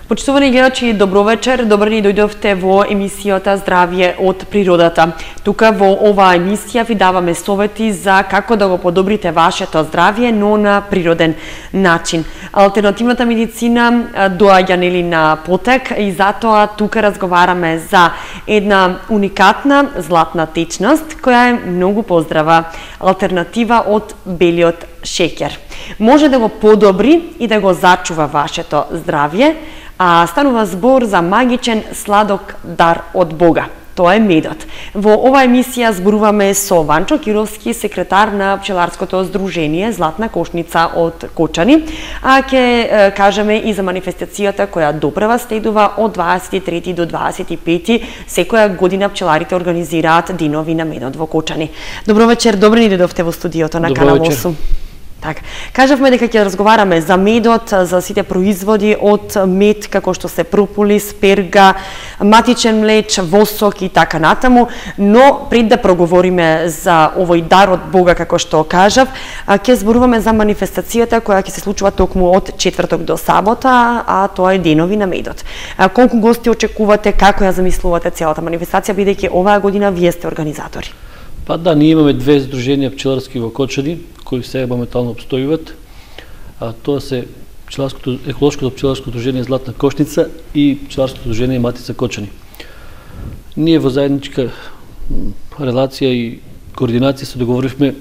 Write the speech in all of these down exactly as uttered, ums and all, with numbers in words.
Почитувани гледачи, добро вечер. Добро ни дојдовте во емисијата Здравје од природата. Тука во оваа емисија ви даваме совети за како да го подобрите вашето здравје, но на природен начин. Алтернативната медицина доаѓа нели на потек и затоа тука разговараме за една уникатна златна течност која е многу поздрава алтернатива од белиот шеќер. Може да го подобри и да го зачува вашето здравје, а станува збор за магичен сладок дар од Бога. Тоа е медот. Во оваа емисија зборуваме со Ванчо Кировски, секретар на пчеларското здружение Златна кошница од Кочани, а ќе кажеме и за манифестацијата која допрева следува од дваесет и трети до дваесет и пети. Секоја година пчеларите организираат денови на медот во Кочани. Добро вечер, добро ни дојдовте во студиото на Канал осум. Така, кажавме дека ќе разговараме за медот, за сите производи од мед, како што се прополис, перга, матичен млеч, восок и така натаму, но пред да проговориме за овој дар од Бога, како што кажав, ќе зборуваме за манифестацијата која ќе се случува токму од четврток до сабота, а тоа е денови на медот. Колку гости очекувате, како ја замислувате целата манифестација, бидејќи оваа година вие сте организатори? Па да, ние имаме две здруженија пчеларски во Кочани, кои сега моментално обстојуват. А тоа се пчеларското еколошкото пчеларско здружение Златна кошница и пчеларското здружение Матица Кочани. Ние во заедничка релација и координација се договоривме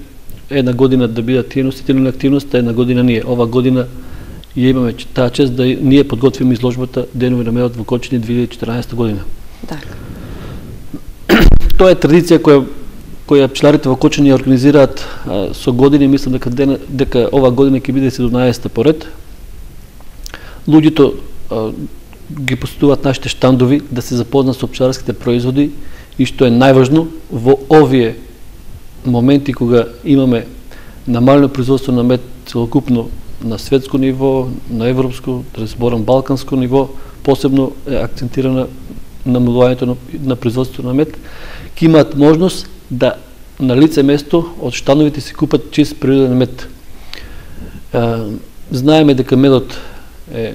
една година да бидат тие носители на активноста, една година ние. Ова година ја имаме таа чест да ние подготвиме изложбата Денови на медот во Кочани две илјади и четиранаесета година. Така. Тоа е традиција која која пчеларите во Кочани организираат а, со години, мислам дека дена, дека ова година ќе биде седумнаесета поред. Луѓето а, ги посетуваат нашите штандови да се запознаат со пчеларските производи и што е најважно во овие моменти кога имаме намалено производство на мед целокупно на светско ниво, на европско, да разборам балканско ниво, посебно е акцентирана намалувањето на, на производството на мед, ќе имаат можност да на лице место од штановите се купат чист природен мед. А, знаеме дека медот е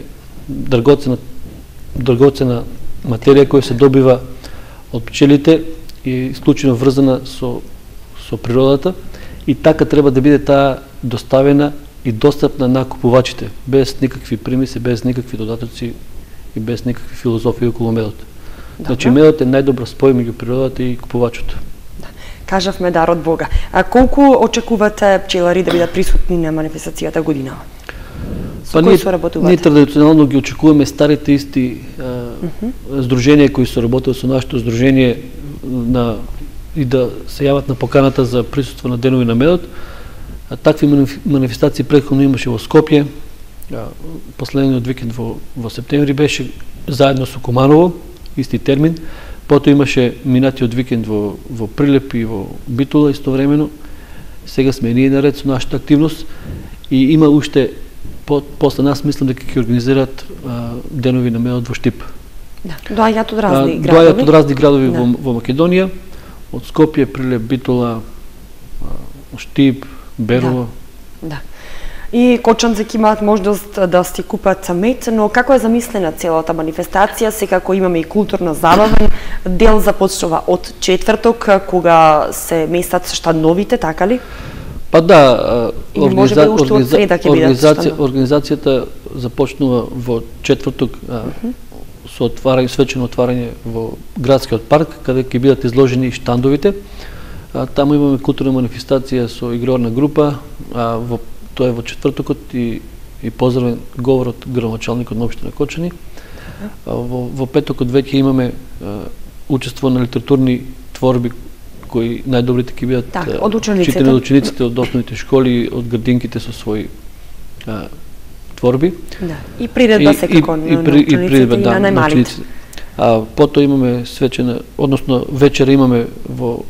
драгоцена, драгоцена материја која се добива од пчелите и исклучено врзана со, со природата и така треба да биде таа доставена и достапна на купувачите, без никакви примеси, без никакви додатоци и без никакви филозофии околу медот. Добре. Значи медот е најдобра спој меѓу природата и купувачот. Кажавме дар од Бога. А колку очекувате пчелари да бидат присутни на манифестацијата годинава? Со па кои се работувате? Ние традиционално ги очекуваме старите исти а, uh -huh. здруженија кои се работат со нашето здружение на и да се јават на поканата за присуство на Денови на медот. А, такви манифестации претходно имаше во Скопје. А, последниот викенд во, во септември беше заедно со Куманово, исти термин. Потоа имаше минатиот викенд во, во Прилеп и во Битола истовремено. Сега сме ние наред со нашата активност и има уште по, после нас мислам дека ќе организираат а, Денови на медот во Штип. Да, доаѓаат од разни а, градови. Доаѓаат од разни градови да. во, во Македонија, од Скопје, Прилеп, Битола, а, Штип, Берово. Да. да. И кочанци ќе имаат можност да си купат мед, но како е замислена целата манифестација, секако имаме и културно забавен дел започнува од четврток, кога се местат штандовите, така ли? Па да, организа... организа... организација, организацијата започнува во четврток а, uh -huh. со отварање, свечено отварање во градскиот парк, каде ќе бидат изложени штандовите. А, таму имаме културна манифестација со игрорна група, а, во тоа е во четвртокот и, и поздравен говор од градоначалникот на општина Кочани. А, во, во петокот веќе имаме а, учество на литературни творби кои најдобрите ќе бидат так, од учениците, читани од учениците од основните школи, од градинките со своји а, творби. Да. И приредба секако на учениците и, и, и, да, на најмалите. А потоа имаме свечена, односно вечера имаме во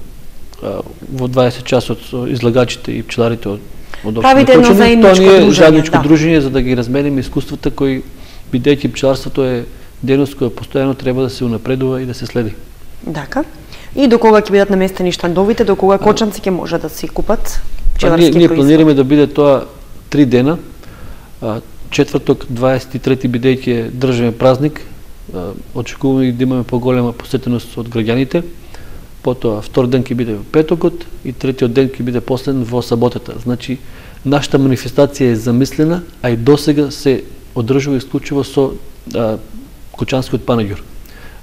а, во дваесет часот со излагачите и пчеларите од од Правите едно заедничко дружење, заедничко да. дружење за да ги размениме искуствата кои, бидејќи пчеларството е дејност која постојано треба да се унапредува и да се следи. Дака. И до кога ќе бидат наместени штандовите, до кога кочанци ќе може да си купат пчеларски производи? Ние, ние планираме да биде тоа три дена. А, четврток, дваесет и трети бидејќи е државен празник, очекуваме да имаме поголема посетеност од граѓаните. Потоа втор ден ќе биде во петокот и третиот ден ќе биде последен во саботата. Значи нашата манифестација е замислена, а и досега се одржува исклучиво со а, кучанскиот панаѓур.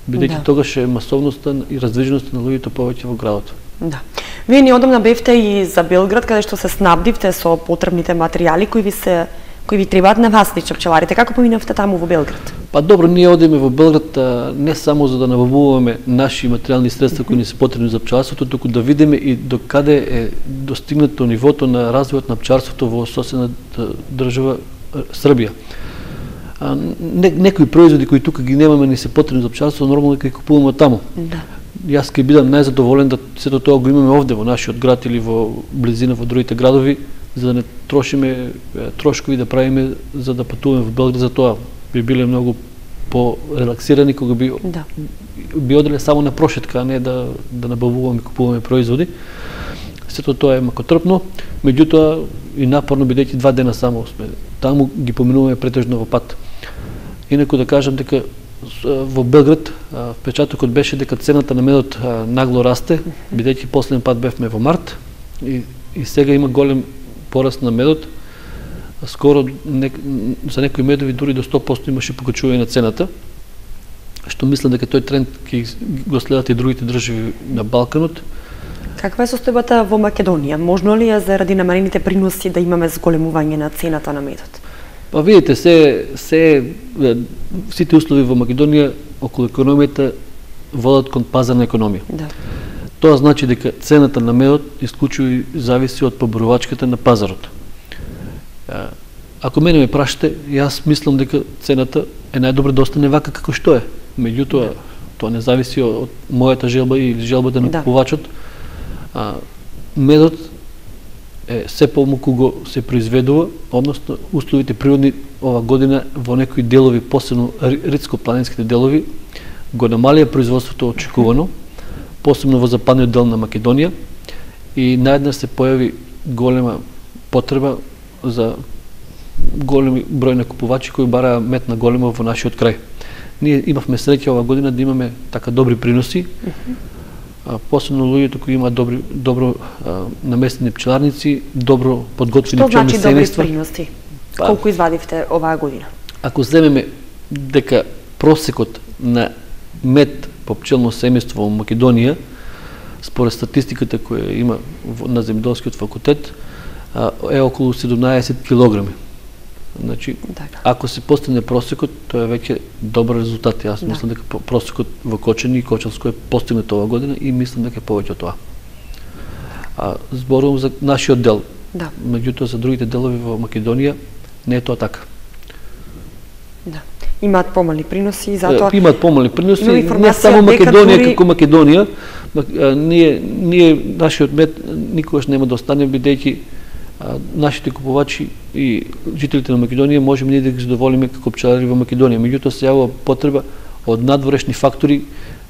Бидејќи да. Тогаш е масовноста и раздвиженоста на луѓето повеќе во градот. Да. Вие неодамна бевте и за Белград, каде што се снабдивте со потребните материјали кои ви се кои ви требаат на вас, лично пчеларите. Како поминавте таму во Белград? Па добро, ние одиме во Белград а, не само за да набавуваме наши материјални средства кои ни се потребни за пчеларството, туку да видиме и до каде е достигнато нивото на развојот на пчеларството во соседната држава Србија. А, не, некои производи кои тука ги немаме ни се потребни за пчеларство, нормално ќе купуваме таму. Да. Јас ќе бидам најзадоволен да сето тоа го имаме овде во нашиот град или во близина во другите градови, за да не трошиме трошкови да правиме за да патуваме во Белград. За тоа би биле многу по-релаксирани кога би да. би оделе само на прошетка, а не да да набавуваме и купуваме производи. Сето тоа е макотрпно, меѓутоа и напорно, бидејќи два дена само сме таму, ги поминуваме претежно во пат. Инаку да кажам дека во Белград впечатокот беше дека цената на медот нагло расте, бидејќи последен пат бевме во март и, и сега има голем пораст на медот. Скоро не, за некои медови дури до сто проценти имаше покачување на цената, што мислам дека тој тренд ќе го следат и другите држави на Балканот. Каква е состојбата во Македонија? Можно ли е заради намалените приноси да имаме зголемување на цената на медот? Па видите, се, се сите услови во Македонија околу економијата водат кон пазарна економија. Да. Тоа значи дека цената на медот исклучиво зависи од поборувачката на пазарот. Ако мене ме прашате, јас мислам дека цената е најдобро да остане вака како што е. Меѓутоа, да. Тоа не зависи од мојата желба или желбата на да. Купувачот. А, медот е се помалку го се произведува, односно условите природни ова година во некои делови, посебно ридско-планинските делови, го намалија производството очекувано, посебно во западниот дел на Македонија, и наеднаш се појави голема потреба за големи број на купувачи кои бараа мед на големо во нашиот крај. Ние имавме среќа ова година да имаме така добри приноси, а, посебно луѓето кои имаат добри добро а, наместени пчеларници, добро подготвени пчелни семејства. Што значи добри приноси? Па, колку извадивте оваа година? Ако земеме дека просекот на мед по пчелно семејство во Македонија, според статистиката која има на земјоделскиот факултет, е околу седумнаесет килограми. Значи, така. Ако се постигне просекот, тоа е веќе добар резултат. Јас да. Мислам дека просекот во Кочани и Кочанско е постигнат оваа година и мислам дека е повеќе од тоа. А зборувам за нашиот дел. Да. Меѓутоа за другите делови во Македонија не е тоа така. Да. Имаат помали приноси и затоа имаат помали приноси, не само Македонија дури... како Македонија. Ние ние нашиот мед никогаш нема да остане, бидејќи нашите купувачи и жителите на Македонија можеме ние да ги задоволиме како пчелари во Македонија. Меѓутоа се јавува потреба од надворешни фактори.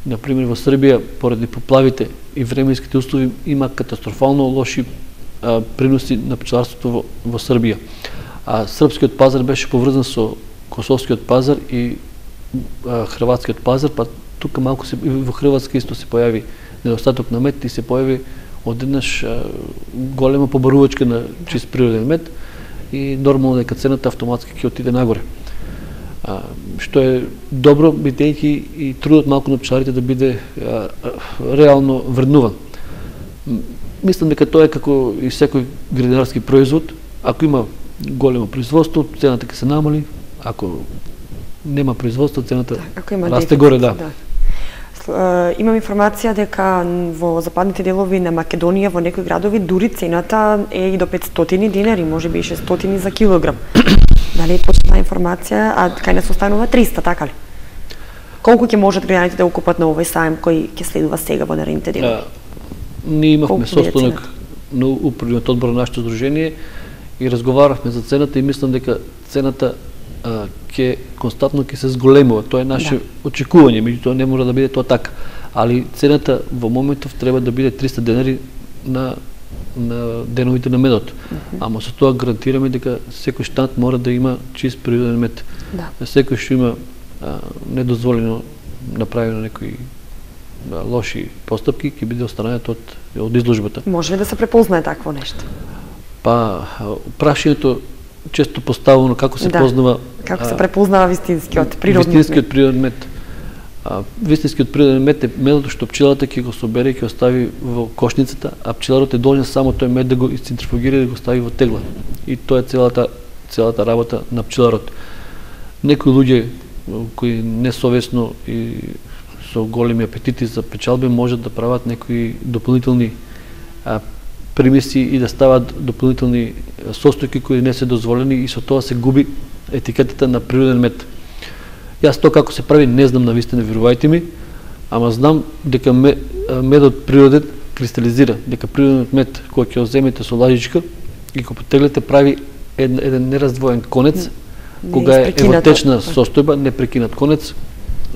Например, во Србија, поради поплавите и временските услови, има катастрофално лоши а, приноси на пчеларството во, во Србија. А српскиот пазар беше поврзан со косовскиот пазар и а, хрватскиот пазар, па тука малку се, во Хрватска исто се појави недостаток на мед и се појави одеднаш голема побарувачка на чист природен мед и нормално дека цената автоматски ќе отиде нагоре. А, што е добро, бидејќи и трудот малку на пчеларите да биде а, а, реално вреднуван. Мислам дека тоа е како и секој градинарски производ. Ако има големо производство, цената ќе се намали. Ако нема производство, цената да, расте горе, да. да. Имам информација дека во западните делови на Македонија во некои градови дури цената е и до петстотини динари, може би и шестстотини за килограм. Дали е точна информација, а кај нас останува триста, така ли? Колку ќе можат граѓаните да го купат на овој саем кој ќе следува сега во наредните делови? Ние имавме состанок на управниот одбор на нашето здружение и разговаравме за цената и мислам дека цената ќе константно ќе се зголемува. Тоа е наше да. очекување, меѓутоа не може да биде тоа така. Али цената во моментов треба да биде триста денари на на деновите на медот. ама со тоа гарантираме дека секој штанд мора да има чист природен мед. Да. Секој што има а, недозволено направено некои а, лоши постапки ќе биде останат од од изложбата. Може ли да се препознае такво нешто? Па прашањето често поставено како се да. познава како се препознава вистинскиот природен вистинскиот мед. природен мед. А, вистинскиот природен мед е медот што пчелата ќе го собере и ќе остави во кошницата, а пчеларот е должен само тој мед да го изцентрифугира и да го стави во тегла. И тоа е целата целата работа на пчеларот. Некои луѓе кои несовесно и со големи апетити за печалби можат да прават некои дополнителни а, примеси и да стават дополнителни состојки кои не се дозволени и со тоа се губи етикетата на природен мед. Јас тоа како се прави не знам навистина, верувајте ми, ама знам дека медот природен кристализира, дека природниот мед кој ќе земете со лажичка и го потеглете прави еден, еден нераздвоен конец, не, кога е во течна состојба, непрекинат конец.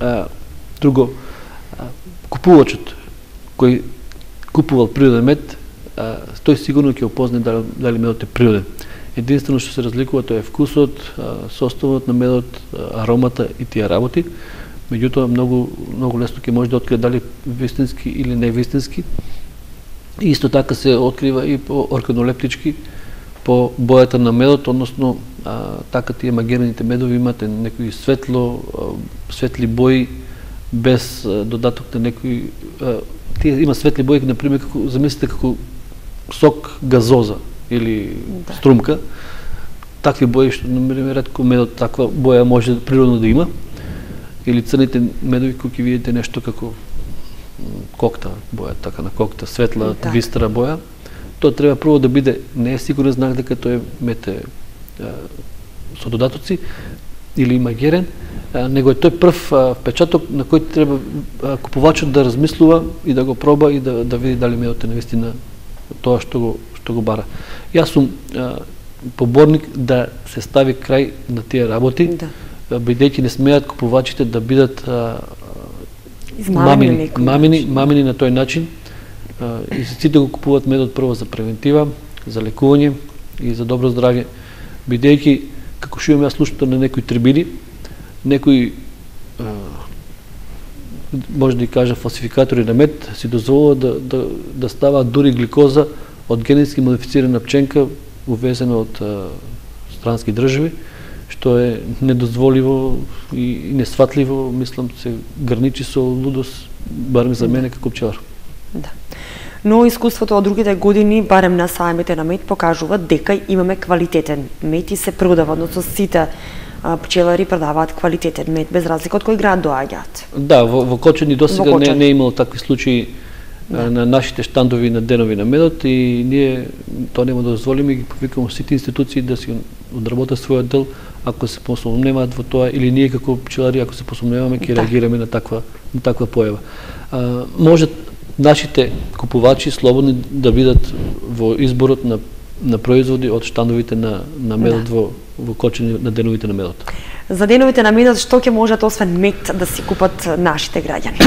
А, друго, а, купувачот кој купувал природен мед, а, тој сигурно ќе опозна дали, дали медот е природен. Единствено што се разликува тоа е вкусот, составот на медот, аромата и тие работи. Меѓутоа многу многу лесно ќе може да открие дали вистински или не вистински. И исто така се открива и по органолептички, по бојата на медот, односно а, така тие магираните медови имате некои светло, а, светли бои без а, додаток на некои а, тие има светли бои, например, како замислите како сок газоза или да. струмка, такви бои што намериме ретко медот таква боја може природно да има, или црните медови кои ќе видите нешто како кокта боја, така на кокта, светла, да. вистра боја, тоа треба прво да биде, не е сигурен знак дека тој мед е со додатоци или магерен, а, него е тој прв а, впечаток на кој треба а, купувачот да размислува и да го проба и да, да види дали медот е навистина тоа што го што го бара. Јас сум а, поборник да се стави крај на тие работи, да. бидејќи не смеат купувачите да бидат а, мамини, мамини, мамини на тој начин. А, и сите го купуваат медот прво за превентива, за лекување и за добро здравје, бидејќи како што имам јас слушато на некои трибини, некои а, може да кажа фалсификатори на мед си дозволуваат да, да, да ставаат дури гликоза од генетски модифицирана пченка увезена од а, странски држави, што е недозволиво и несватливо, мислам, се граничи со лудост, барем за мене како пчелар. Да. Но искуството од другите години, барем на сајмите на мед, покажуваат дека имаме квалитетен мед и се продава, односно сите пчелари продаваат квалитетен мед, без разлика од кој град доаѓаат. Да, во, во Кочани досега не, не е имало такви случаи да. на нашите штандови на денови на медот и ние тоа нема да дозволиме и ги повикаме сите институции да си одработат својот дел, ако се посомневаат во тоа, или ние како пчелари ако се посомневаме ќе да. реагираме на таква на таква појава. А, може нашите купувачи слободни да бидат во изборот на на производи од штандовите на на медот да. во во Кочани на деновите на медот. За деновите на медот што ќе можат освен мед да си купат нашите граѓани?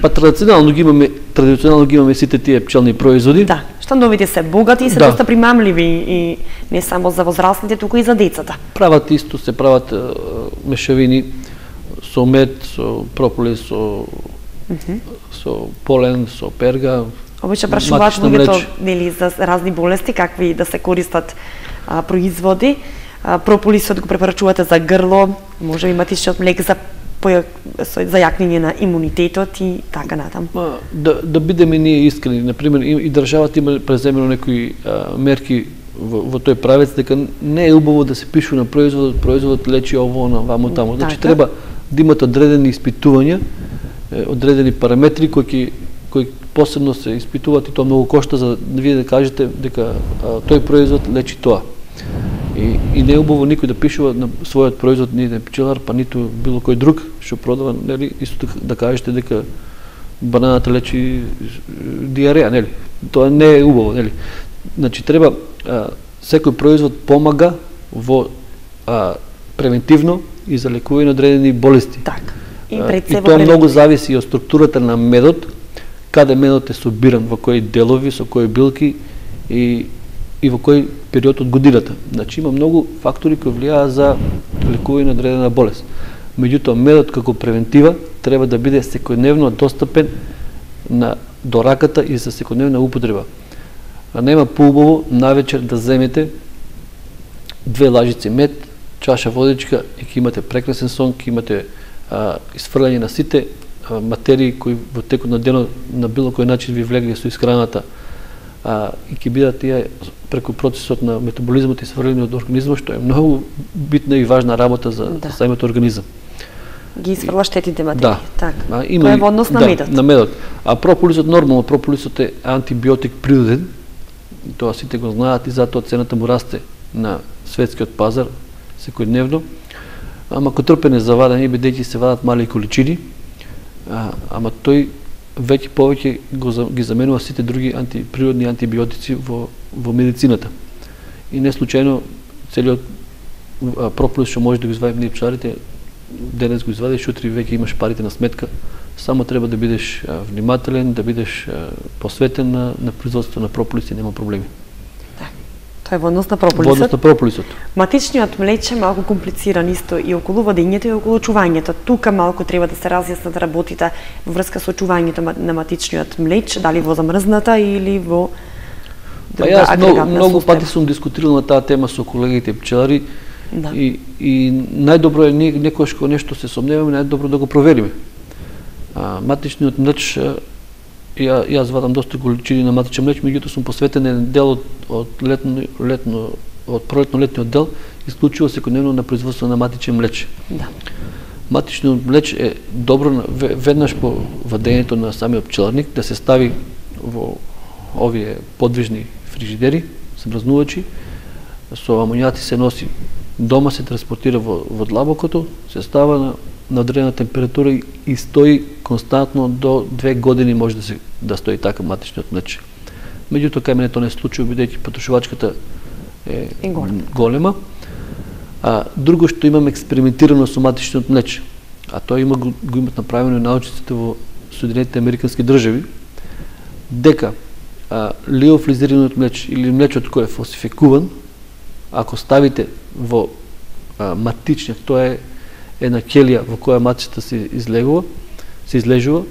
Па традиционално ги имаме, традиционално ги имаме сите тие пчелни производи. Да, штандовите се богати и се да. доста примамливи и не само за возрастните, туку и за децата. Прават исто, се прават е, мешавини со мед, со прополис, со mm -hmm. со полен, со перга. Обично прашуваат луѓето нели за разни болести какви да се користат а, производи. А, прополисот го препорачувате за грло, може имате и од млек за за јакнење на имунитетот и така натаму. Да да бидеме ние искрени, на пример и, и државата има преземено некои а, мерки во, во тој правец дека не е убаво да се пишу на производот, производот лечи ово на вамо таму. Значи така. Треба да имате одредени испитувања, одредени параметри кои ќе кои посебно се испитуваат и тоа многу кошта за да вие да кажете дека а, тој производ лечи тоа. И, и не е убаво никој да пишува на својот производ, нито пчелар, па ниту било кој друг што продава, нели, исто така да кажете дека бананата лечи диареја, нели? Тоа не е убаво, нели? Значи треба а, секој производ помага во а, превентивно и за лекување на одредени болести. Така. И, а, и тоа многу зависи и од структурата на медот, каде медот е собиран, во кои делови, со кои билки и и во кој период од годината. Значи има многу фактори кои влијаат за лекување на одредена болест. Меѓутоа, медот како превентива треба да биде секојдневно достапен на до раката и за секојдневна употреба. А нема поубаво навечер да земете две лажици мед, чаша водичка и ќе имате прекрасен сон, ќе имате а, изфрлање на сите а, материи кои во текот на денот на било кој начин ви влегли со исхраната, а, и ќе бидат тие преку процесот на метаболизмот и сврлење од организмот, што е многу битна и важна работа за да. самиот организам. Ги изфрла штетните материи. Да. Така. А, има Тоа е во однос на да, медот. На медот. А прополисот нормално, прополисот е антибиотик природен. Тоа сите го знаат и затоа цената му расте на светскиот пазар секојдневно. Ама ко трпене за вадење, бидејќи се вадат мали количини, а, ама тој веќе повеќе го, ги заменува сите други антиприродни антибиотици во, во медицината. И не случајно целиот прополис што може да го извадим ние пчеларите, денес го извадиш, утре веќе имаш парите на сметка. Само треба да бидеш а, внимателен, да бидеш а, посветен на, на производството на прополис и нема проблеми. Да. Тоа е во однос на прополисот. Во однос на прополисот. Матичниот млеч е малку комплициран исто и околу вадењето и околу чувањето. Тука малку треба да се разјаснат работите во врска со чувањето на матичниот млеч, дали во замрзната или во друга па јас многу, многу пати сум дискутирал на таа тема со колегите пчелари. Да. И, и најдобро е некојаш кога нешто се сомневаме, најдобро да го провериме. А, матичниот млеч, ја, јас вадам доста количини на матичен млеч, меѓутоа сум посветен еден дел од, од летно, летно, од пролетно-летниот дел, исклучиво секојдневно на производство на матичен млеч. Да. Матичниот млеч е добро веднаш по вадењето на самиот пчеларник да се стави во овие подвижни фрижидери, смрзнувачи, со амонијати се носи дома, се транспортира во, во длабокото, се става на, на одредена температура и, и стои константно до две години може да се да стои така матичниот млеч. Меѓутоа кај мене тоа не се случува, бидејќи потрошувачката е, е голема. А друго што имам експериментирано со матичниот млеч, а тоа има го, го имат направено научниците во Соединетите Американски држави, дека а, лиофлизираниот млеч или млечот кој е фалсификуван, ако ставите во а, матичниот, тоа е една келија во која матичата се излегува, се излежува,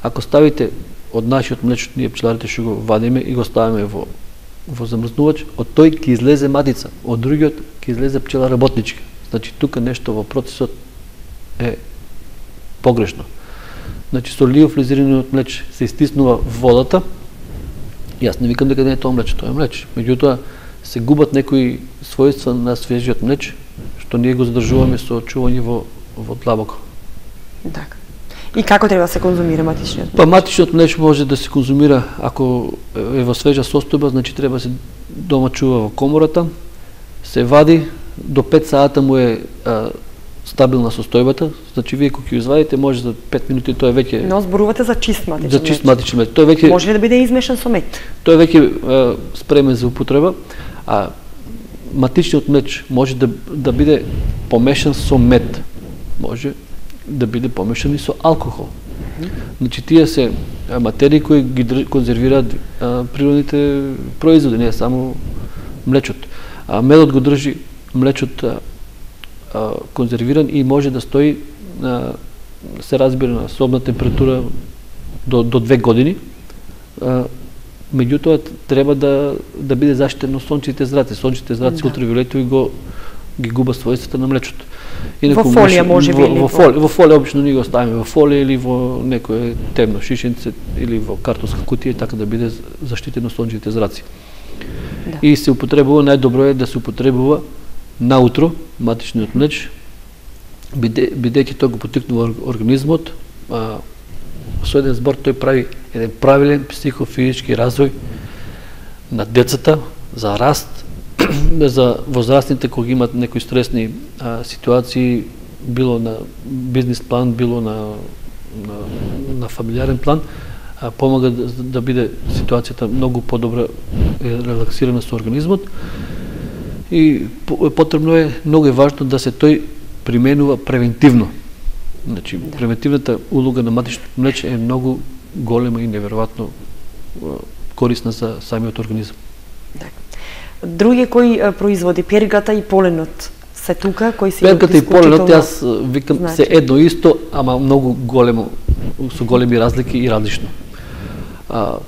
ако ставите од нашиот млеч, ние пчеларите што го вадиме и го ставиме во во замрзнувач, од тој ќе излезе матица, од другиот ќе излезе пчела работничка. Значи тука нешто во процесот е погрешно. Значи со лиофлизираниот млеч се истиснува водата. Јас не викам дека не е тоа млеч, тоа е млеч. Меѓутоа се губат некои својства на свежиот млеч, што ние го задржуваме со чување во во длабоко. Така. И како треба да се конзумира матичниот млеч? Па матичниот млеч може да се конзумира ако е во свежа состојба, значи треба се дома чува во комората, се вади до пет сата му е а, стабилна состојбата, значи вие кога ќе извадите може за пет минути тоа е веќе. Но зборувате за чист матичен млеч. За чист матичен млеч. Тоа веќе може ли да биде измешан со мед? Тоа е веќе спремен за употреба, а матичниот млеч може да да биде помешан со мед. Може да биде помешан и со алкохол. Mm-hmm. Значи тие се материи кои ги конзервираат а, природните производи, не само млечот. А медот го држи млечот а, а, конзервиран и може да стои а, се разбира на собна температура до до две години. А, меѓутоа треба да да биде заштитено сончевите зраци. Сончевите зраци да. Ултравиолетови го ги губат својствата на млечото. Инаку, во фолија може би во, во фолија, во фолија обично ние го ставиме во фолија или во некое темно шишенце или во картонска кутија, така да биде заштитено сончевите зраци. Да. И се употребува, најдобро е да се употребува наутро матичниот млеч, биде, бидејќи тоа го поттикнува организмот, а, со еден збор тој прави еден правилен психофизички развој на децата за раст, за возрастните кога имат некои стресни а, ситуации, било на бизнес план, било на на, на фамилиарен план, а, помага да, да биде ситуацијата многу подобра, релаксирана со организмот. И потребно е, многу е важно да се тој применува превентивно. Значи, да. Превентивната улога на матичното млеч е многу голема и неверојатно корисна за самиот организам. Да. Други кои производи, пергата и поленот се тука, кои се пергата и поленот, јас викам значи. Се едно исто, ама многу големо, со големи разлики и различно. А,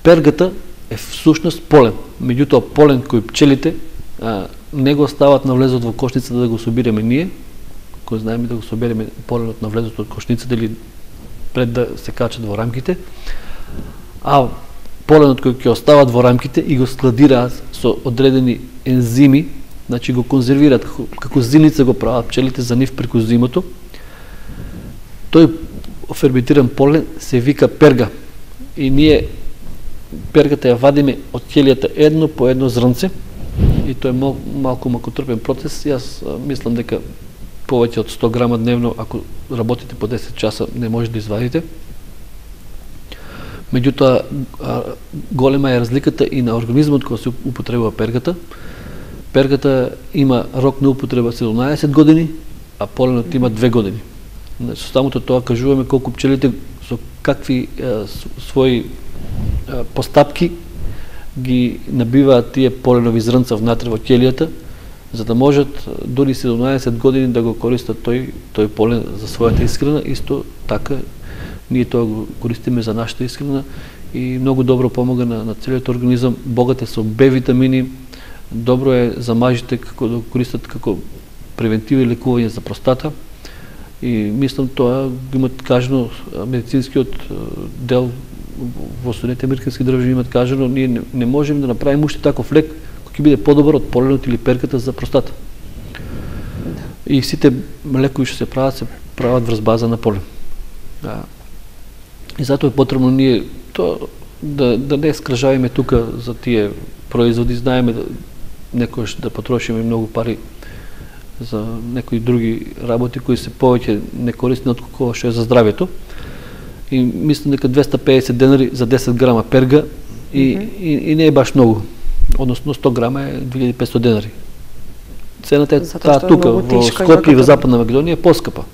пергата е всушност полен, меѓутоа полен кој пчелите а, не го стават на влезот во кошницата да го собираме ние, кој знаеме да го собереме поленот на влезот од кошницата или пред да се качат во рамките, а поленот кој ќе остават во рамките и го складираат со одредени ензими, значи го конзервираат како, како зимница го прават пчелите за нив преку зимото. Тој ферментиран полен се вика перга и ние пергата ја вадиме од ќелијата едно по едно зрнце и тоа е мал, малку макотрпен процес. Јас а, мислам дека повеќе од сто грама дневно, ако работите по десет часа, не може да извадите. Меѓутоа, голема е разликата и на организмот кој се употребува пергата. Пергата има рок на употреба седумнаесет години, а поленот има две години. Со самото тоа кажуваме колку пчелите со какви е, своји е, постапки ги набиваат тие поленови зрнца внатре во ќелијата, за да можат дури седумнаесет години да го користат тој тој полен за својата исхрана. Исто така ние тоа го користиме за нашата исхрана и многу добро помага на, на целиот организам. Богат е со Б витамини, добро е за мажите како да го користат како превентива и лекување за простата. И мислам тоа го имат кажано медицинскиот дел во Соединетите американски држави имат кажано, ние не, не можеме да направиме уште таков лек кој ќе биде подобар од поленот или пергата за простата. И сите лекови што се прават се прават врз база на полен. Да. И затоа е потребно ние тоа да, да не скражавиме тука за тие производи, знаеме да некојаш да потрошиме многу пари за некои други работи кои се повеќе некорисни отколку што е за здравјето. И мислам дека двесте и педесет денари за десет грама перга и, mm -hmm. и, и не е баш многу. Односно сто грама е две илјади и петстотини денари. Цената е таа тука во Скопје и во Западна Македонија е поскапа.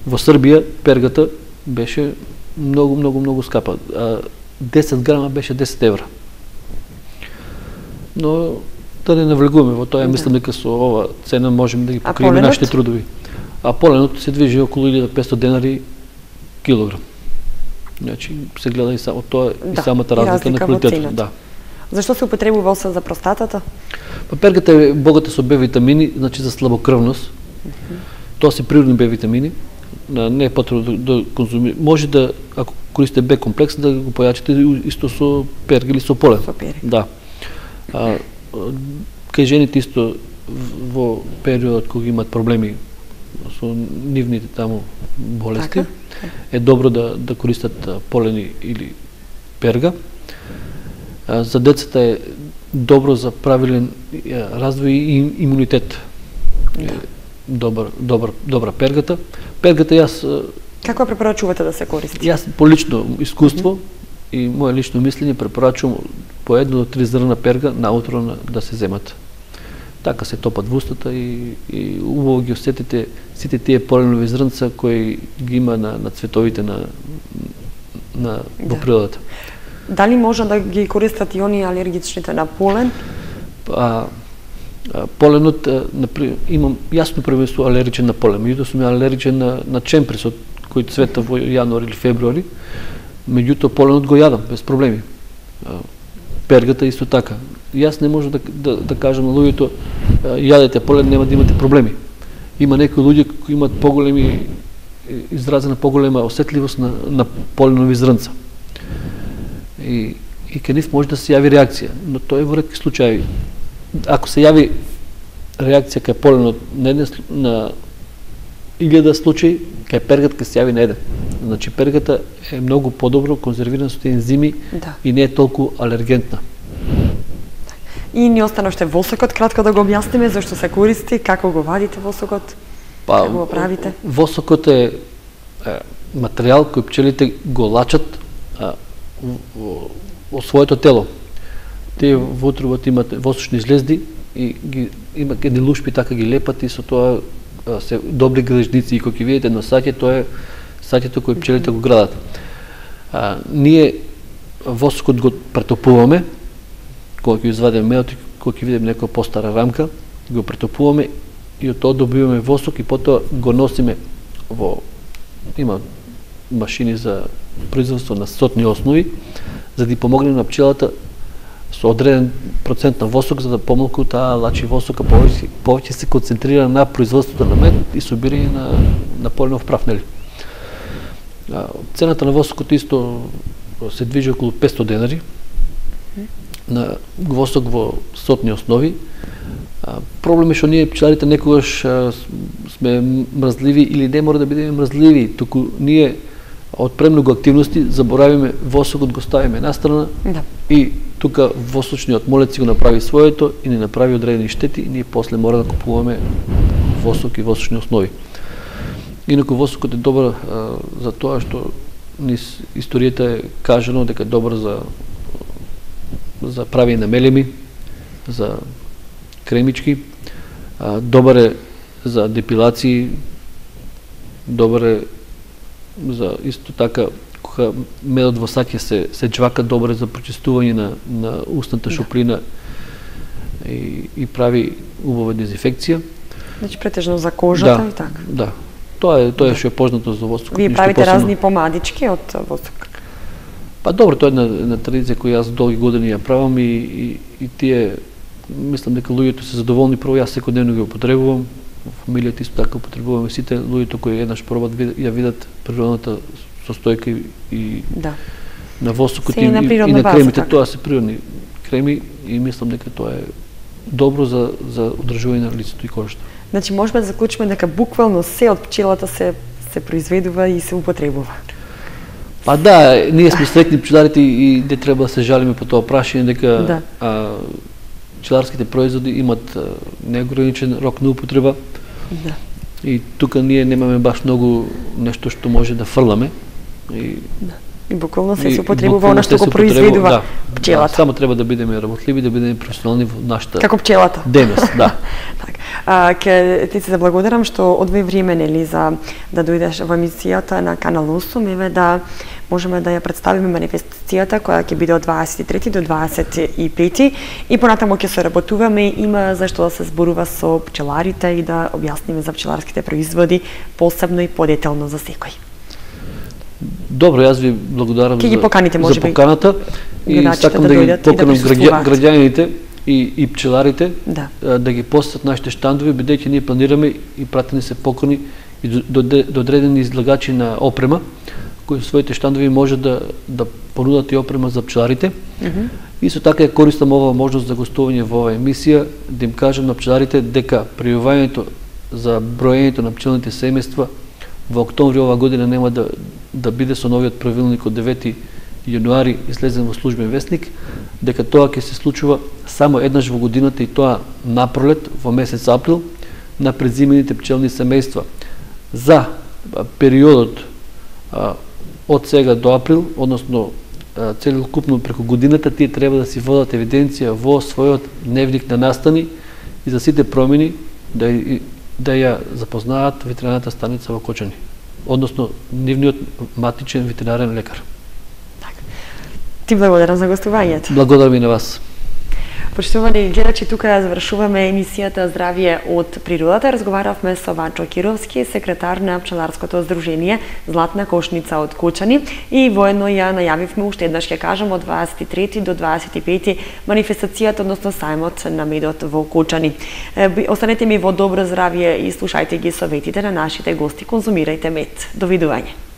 Во Србија пергата беше многу многу многу скапа. десет грама беше десет евра. Но да не навлегуваме во тоа, мислам дека со ова цена можеме да ги покриеме нашите трудови. А поленот се движи околу илјада и петстотини денари килограм. Значи се гледа и само тоа да, и самата разлика, разлика на квалитетот. Да. Зашто се употребува освен за простатата? Па пергата е богата со Б витамини, значи за слабокрвност. Mm -hmm. Тоа се природни Б витамини. Не е потребно да, да конзумира. Може да, ако користите Б комплекс, да го појачите исто со перга или со полен. Со перга. Да. А, кај жените исто во периодот кога имат проблеми со нивните таму болести, така? Е добро да, да користат полени или перга. А, за децата е добро за правилен развој и имунитет. Да. Добар, добар, добра пергата. Пергата јас... Како препорачувате да се користи? Јас по лично искуство mm-hmm. и моје лично мислење препорачувам по едно до три зрна перга наутро да се земат. Така се топат во устата и, и убаво ги осетите сите тие поленови зрнца кои ги има на, на цветовите на, на во да. Природата. Дали може да ги користат и они алергичните на полен? А, а, поленот, например, имам јасно првенство алергичен на полен, меѓутоа сум алергичен на, на чемпресот кој цвета во јануари или февруари, меѓутоа поленот го јадам без проблеми. А, пергата исто така. Јас не можам да, да, да кажам на луѓето јадете полен, нема да имате проблеми. Има некои луѓе кои имаат поголеми изразена поголема осетливост на, на поленови зрнца. И, и кај нив може да се јави реакција, но тоа е во ретки случаи. Ако се јави реакција кај поленот на еден на илјада случаи, кај пергата ќе се јави на еден. Значи пергата е многу подобро конзервирана со тие ензими да. И не е толку алергентна. И ни остана уште восокот, кратко да го објасниме зашто се користи, како го вадите восокот, па, како го правите? Восокот е, е материјал кој пчелите го лачат а, во, во своето тело. Тие во утробот имат восочни жлезди и ги има едни лушпи, така ги лепат и со тоа а, се добри грежници и кога ќе видите на саќе, тоа е саќето кој пчелите го градат. А, ние восокот го претопуваме, кога ќе извадиме медот, кога ќе видиме некоја постара рамка, го претопуваме и од тоа добиваме восок и потоа го носиме во има машини за производство на сотни основи, за да помогне на пчелата со одреден процент на восок, за да помалку таа лачи восока повеќе, повеќе се концентрира на производството на мед и собирање на, на поленов прав, нели? А, цената на восокот исто се движи околу петстотини денари, на восок во сотни основи. А, проблем е што ние пчеларите некогаш а, сме мрзливи или не мора да бидеме мрзливи, туку ние од премногу активности заборавиме восокот, го ставиме настрана, да. И тука восочниот молец го направи своето и не направи одредени штети и ние после мора да купуваме восок и восочни основи. Инаку восокот е добар а, за тоа што низ историјата е кажано дека е добар за за правење на мелеми, за кремички, а, добар е за депилации, добар е за исто така кога медот во саќе се се џвака, добар е за прочистување на на устната шуприна и и прави убава дезинфекција. Значи претежно за кожата да, и така. Да. Тоа е тоа е што е познато за восокот. Вие правите посебно разни помадички од восок. Па добро, тоа е една, една традиција која јас долги години ја правам и, и, и тие, мислам дека луѓето се задоволни, прво јас секојдневно ги употребувам, во фамилијата исто така употребуваме сите луѓето кои еднаш пробат ја видат природната состојка и, и да. на восокот и, и, на и, и на база, кремите, така. Тоа се природни креми и мислам дека тоа е добро за, за одржување на лицето и кожата. Значи можеме да заклучиме дека буквално се од пчелата се се произведува и се употребува. Па да, ние сме среќни пчеларите и не треба да се жалиме по тоа прашање дека да. а, пчеларските производи имат а, неограничен рок на употреба. Да. И тука ние немаме баш многу нешто што може да фрламе. И, да. И буквално се се употребува она што го произведува да, пчелата. Да, само треба да бидеме работливи, да бидеме професионални во нашата како пчелата. Денес, да. Так. А, ке ти се заблагодарам што одвои време нели за да дојдеш во емисијата на Канал осум, еве да можеме да ја представиме манифестацијата која ќе биде од дваесет и трети до дваесет и пети и понатаму ќе се работуваме, има зашто да се зборува со пчеларите и да објасниме за пчеларските производи посебно и подетелно за секој. Добро, јас ви благодарам за, поканите, за поканата и сакам да, да ги поканам да граѓаните и, и пчеларите да. да ги посетат нашите штандови, бидејќи ние планираме и пратени се покани и до, до, до одредени излагачи на опрема, кои своите штандови може да, да понудат и опрема за пчеларите. Mm -hmm. И со така ја користам оваа можност за гостување во оваа емисија, да им кажам на пчеларите дека пријавувањето за броењето на пчелните семејства во октомври ова година нема да, да биде со новиот правилник од девети јануари излезен во службен весник, дека тоа ќе се случува само еднаш во годината и тоа напролет во месец април на презимените пчелни семејства. За периодот а, од сега до април, односно а, целокупно преку годината, тие треба да си водат евиденција во својот дневник на настани и за сите промени да, да ја запознаат ветеринарната станица во Кочани, односно нивниот матичен ветеринарен лекар. Ти благодарам за гостувањето. Благодарам и на вас. Поштовани гледачи, тука ја завршуваме емисијата Здравје од природата. Разговаравме со Ванчо Кировски, секретар на пчеларското здружение Златна кошница од Кочани и воедно ја најавивме уште еднаш ќе кажам од дваесет и трети до дваесет и пети манифестацијата, односно сајмот на медот во Кочани. Останете ми во добро здравје и слушајте ги советите на нашите гости, конзумирајте мед. Довидување.